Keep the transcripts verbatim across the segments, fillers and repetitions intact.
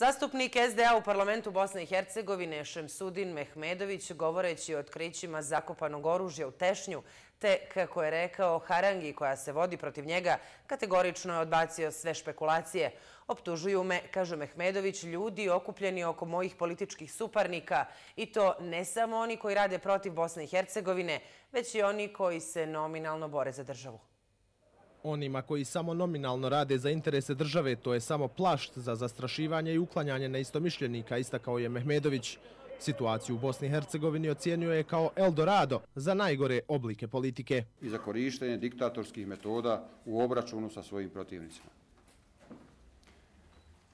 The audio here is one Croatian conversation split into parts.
Zastupnik es de a u parlamentu Bosne i Hercegovine Šemsudin Mehmedović, govoreći o otkrićima zakopanog oružja u Tešnju, te, kako je rekao, harangi koja se vodi protiv njega, kategorično je odbacio sve špekulacije. Optužuju me, kaže Mehmedović, ljudi okupljeni oko mojih političkih suparnika, i to ne samo oni koji rade protiv Bosne i Hercegovine, već i oni koji se nominalno bore za državu. Onima koji samo nominalno rade za interese države, to je samo plašt za zastrašivanje i uklanjanje neistomišljenika, istakao je Mehmedović. Situaciju u Bosni i Hercegovini ocijenio je kao Eldorado za najgore oblike politike. I za korištenje diktatorskih metoda u obračunu sa svojim protivnicima.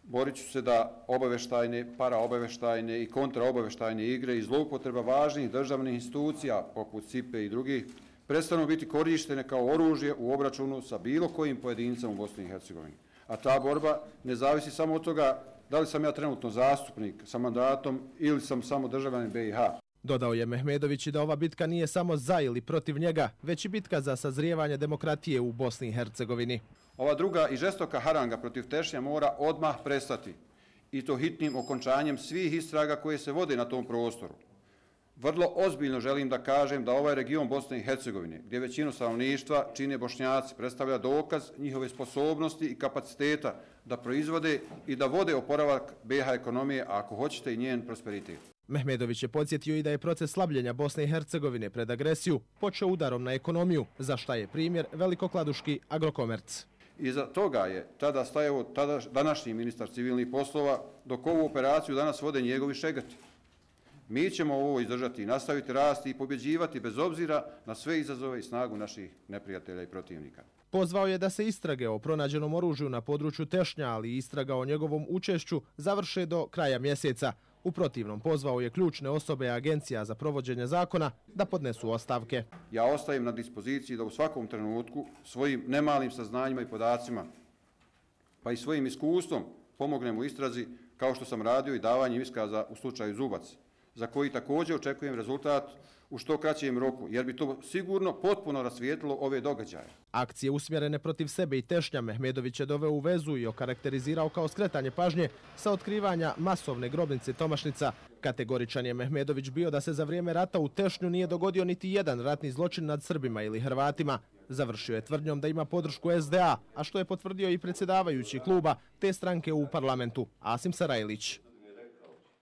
Borit ću se da obaveštajne, paraobaveštajne i kontraobaveštajne igre i zloupotreba važnih državnih institucija, poput S I P E i drugih, prestanu biti korištene kao oružje u obračunu sa bilo kojim pojedincem u Bosni i Hercegovini. A ta borba ne zavisi samo od toga da li sam ja trenutno zastupnik sa mandatom ili sam samo državljanin be i ha. Dodao je Mehmedović i da ova bitka nije samo za ili protiv njega, već i bitka za sazrijevanje demokratije u Bosni i Hercegovini. Ova druga i žestoka haranga protiv Tešnja mora odmah prestati, i to hitnim okončanjem svih istraga koje se vode na tom prostoru. Vrlo ozbiljno želim da kažem da ovaj region Bosne i Hercegovine, gdje većinu stanovništva čine Bošnjaci, predstavlja dokaz njihove sposobnosti i kapaciteta da proizvode i da vode oporavak be i ha ekonomije, a ako hoćete i njen prosperitet. Mehmedović je podsjetio i da je proces slabljenja Bosne i Hercegovine pred agresiju počeo udarom na ekonomiju, za šta je primjer velikokladuški Agrokomerc. Iza toga je tada stajao tada današnji ministar civilnih poslova, dok ovu operaciju danas vode njegovi šegrti. Mi ćemo ovo izdržati i nastaviti rasti i pobjeđivati bez obzira na sve izazove i snagu naših neprijatelja i protivnika. Pozvao je da se istrage o pronađenom oružju na području Tešnja, ali i istraga o njegovom učešću završe do kraja mjeseca. U protivnom pozvao je ključne osobe agencija za provođenje zakona da podnesu ostavke. Ja ostajem na dispoziciji da u svakom trenutku svojim nemalim saznanjima i podacima, pa i svojim iskustvom pomognem u istrazi, kao što sam radio i davanjem iskaza u slučaju Zubac, za koji također očekujem rezultat u što kraćem roku, jer bi to sigurno potpuno rasvijetlilo ove događaje. Akcije usmjerene protiv sebe i Tešnja Mehmedović je doveo u vezu i okarakterizirao kao skretanje pažnje sa otkrivanja masovne grobnice Tomašnica. Kategoričan je Mehmedović bio da se za vrijeme rata u Tešnju nije dogodio niti jedan ratni zločin nad Srbima ili Hrvatima. Završio je tvrdnjom da ima podršku es de a, a što je potvrdio i predsjedavajući kluba te stranke u parlamentu, Asim Sarajlić.